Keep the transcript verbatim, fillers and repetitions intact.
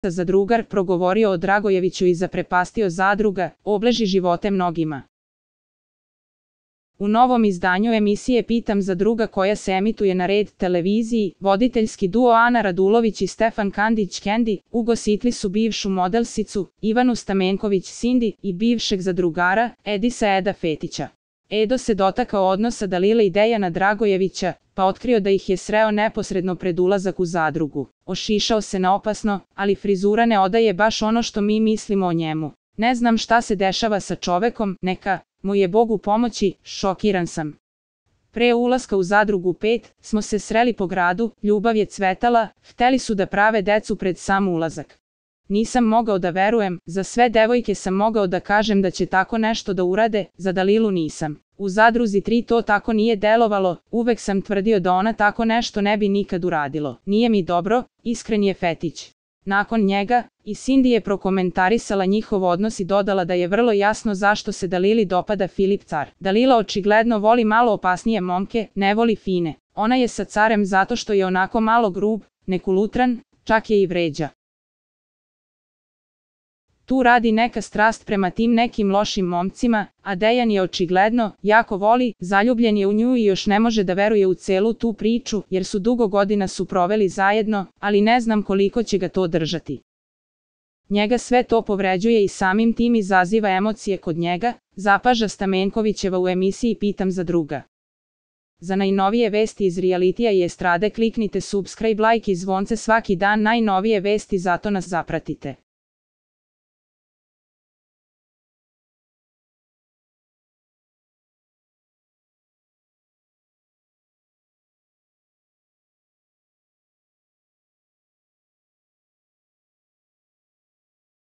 zadrugar progovorio o Dragojeviću i zaprepastio zadruga, obleži živote mnogima. U novom izdanju emisije Pitam za druga koja se emituje na Red televiziji, voditeljski duo Ana Radulović i Stefan Kandić-Kendi ugostili su bivšu modelsicu Ivanu Stamenković-Sindi i bivšeg zadrugara Edisa Eda Fetića. Edo se dotakao odnosa Dalile i Dejana Dragojevića, pa otkrio da ih je sreo neposredno pred ulazak u zadrugu. Ošišao se na opasno, ali frizura ne odaje baš ono što mi mislimo o njemu. Ne znam šta se dešava sa čovekom, neka mu je Bog u pomoći, šokiran sam. Pre ulaska u zadrugu pet smo se sreli po gradu, ljubav je cvetala, hteli su da prave decu pred sam ulazak. Nisam mogao da verujem, za sve devojke sam mogao da kažem da će tako nešto da urade, za Dalilu nisam. U zadruzi tri to tako nije delovalo, uvek sam tvrdio da ona tako nešto ne bi nikad uradilo. Nije mi dobro, iskren je Fetić. Nakon njega, i Sindi je prokomentarisala njihov odnos i dodala da je vrlo jasno zašto se Dalili dopada Filip Car. Dalila očigledno voli malo opasnije momke, ne voli fine. Ona je sa Carem zato što je onako malo grub, nekulutran, čak je i vređa. Tu radi neka strast prema tim nekim lošim momcima, a Dejan je očigledno jako voli, zaljubljen je u nju i još ne može da veruje u celu tu priču, jer su dugo godina su proveli zajedno, ali ne znam koliko će ga to držati. Njega sve to povređuje i samim tim izaziva emocije kod njega, zapaža Stamenkovićeva u emisiji Pitam za druga. Za najnovije vesti iz realitija i estrade kliknite subscribe, like i zvonce svaki dan, najnovije vesti, zato nas zapratite.